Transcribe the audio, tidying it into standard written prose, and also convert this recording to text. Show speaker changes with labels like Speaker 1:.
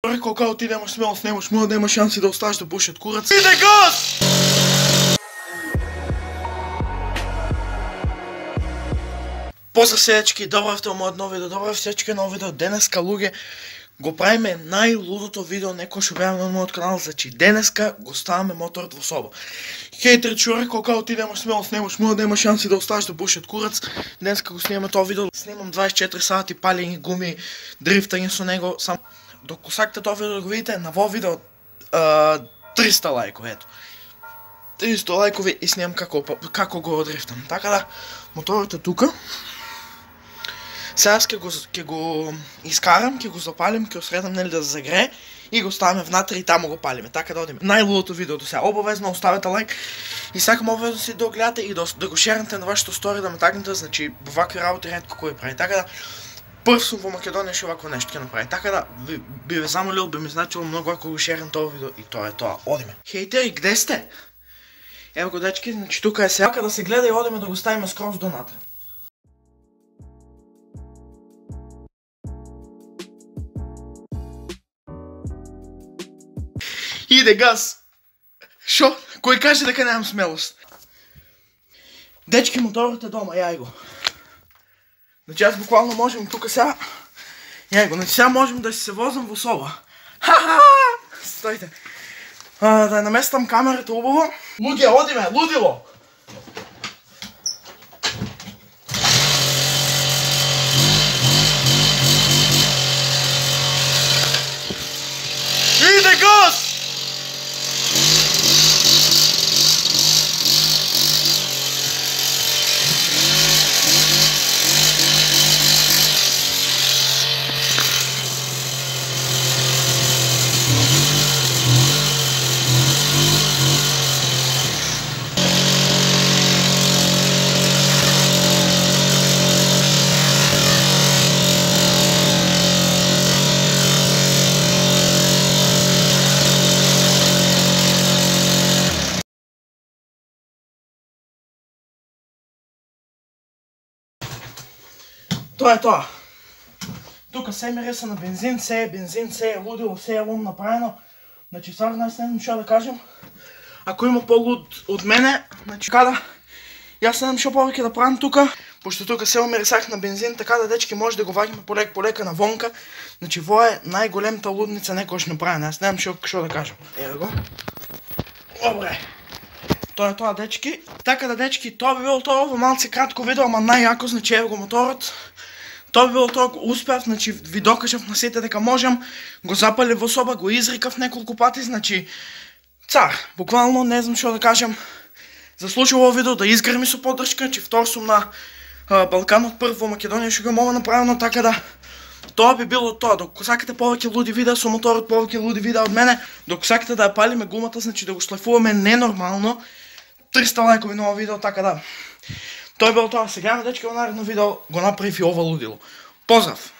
Speaker 1: Рекол као ти немаш смелост, нема шанси да оставиш да пушат курац. Иде газ! Поздрав сечки, добравте мојот ново видео, добрав сечки ново видео. Денеска луѓе го правиме најлудото видео некој што беа на мојот канал, значи денеска го ставаме моторот во соба. Хейтер што рекол као ти немаш смелост, нема шанси да оставиш да пушат курац. Денеска го снимаме тоа видео, снимам 24 сати палење гуми, дрифтање со него, сам докато сакате тоа видео да го видите, на во видео 300 лајкови, ето. 300 лајкови и снимам како го дрифтам. Така да, моторот е тука. Сега ќе го искарам, ќе го запалим, ќе го средам нели да загрее и го ставаме внатре и таму го палиме. Така да одиме. Најлудото видео до сега. Обавезно оставете лайк и сакам обавезно си да го гледате и да го шернете на вашето стори, да ме тагнете, значи вакви работи ретко кој прави. Така да прв сум во Македонија што вакво нешто ќе направи. Така да би ве замолил, би ми значило многу ако го шернете тоа видео и тоа е тоа. Одиме. Хейтери, где сте? Ево го дечки, значи тука е сега да се гледа и одиме да го ставиме скроз донатре. Иде газ! Шо? Кој каже дека немам смелост? Дечки, моторот е дома, јај го. Значи аз буквално можем тука сега... Јај го, значи сега можем да се возам во соба. Ха-ха! Стојте. Да наместам камерата убаво. Луѓе, одиме, лудило! Иде газ! Тоа е тоа. Тука се мириса на бензин, се е лудило, се е лум направено. Значи стварно аз не знам што да кажем. Ако има по-луд од мене, значи када јас не знам што повеќе да правам тука, пошто тука се мирисах на бензин, така да дечки може да го ваѓаме полека навонка. Значи во е најголемата лудница некојаш направена. Аз не знам што да кажем. Ево го. Добре. Тоа е тоа, дечки. Така да, дечки, тоа би било тоа, ово малце кратко видео, ама најјако, значи ево го моторот. Тоа би било тоа, успеав, значи ви докажав на сите дека можам, го запалив во соба, го изрикав неколку пати, значи цар, буквално не знам што да кажам. Заслужи ово видео да изгрми со поддршка, значи втор сум на Балканот, прв во Македонија што го имам направено, така да тоа би било тоа. Докато сакате повеќе луди видеа со моторот, повеќе луди видеа од мене, докато сакате да ја палиме гумата, значи да го шлефуваме ненормално, 300 лајкови на ово видео, така да. Тоа е било тоа. Сега на дечки во наредно видео го направив и ова лудило. Поздрав!